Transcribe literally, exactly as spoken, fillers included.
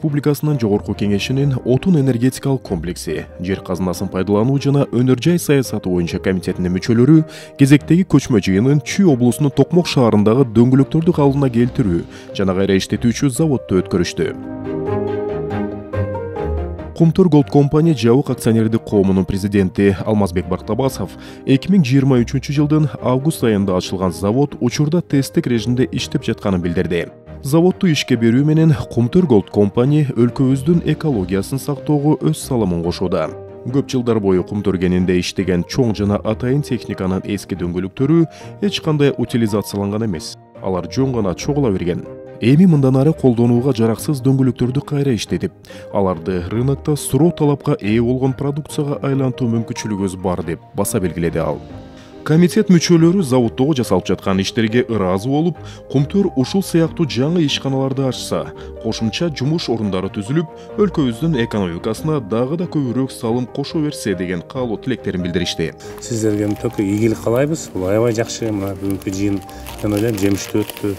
Республикасынын Жогорку Кеңешинин отун энергетикалык комплекси, жер казынасын пайдалануу жана өнөр жай саясаты боюнча комитетинин мүчөлөрү кезектеги көчмө жыйынын Чүй облусунун Токмок шаарындагы дөңгөлөктөрдү калыбына келтирүү жана кайра иштетүүчү заводду өткөрүштү. Кумтөр Gold Company жабык акционердик коомунун президенти Алмазбек Бактабасов эки миң жыйырма үчүнчү жылдын август айында ачылган завод учурда тесттик режимде иштеп жатканын билдирди. Заводду ишке берүү менен Кумтөр Gold Company өлкөбүздүн экологиясын сактоого өз салымын кошууда. Көп жылдар бою Кумтөр кенинде иштеген чоң жана атайын техниканын эски дөңгөлөктөрү эч кандай утилизацияланган эмес. Алар жөн гана чогула берген. Эми мындан ары колдонууга жараксыз дөңгөлөктөрдү кайра иштетип, аларды рынокто суроо талапка ээ болгон продукцияга айлантуу мүмкүнчүлүгүбүз бар деп баса белгиледи ал. Комитет мүчөлөрү заводдогу жасалып жаткан иштерге ыраазы болуп, Кумтөр ушул сыяктуу жаңы ишканаларды ачса, кошумча жумуш орундары түзүлүп, өлкөбүздүн экономикасына дагы да көбүрөөк салым кошо берсе деген каалоо тилектерин билдиришти. Сиздерге мөтөкөй ийгилик каалайбыз. Бул аябай жакшы. Мына бүгүнкү жыйын мен ойлойм жемиштүү өттү.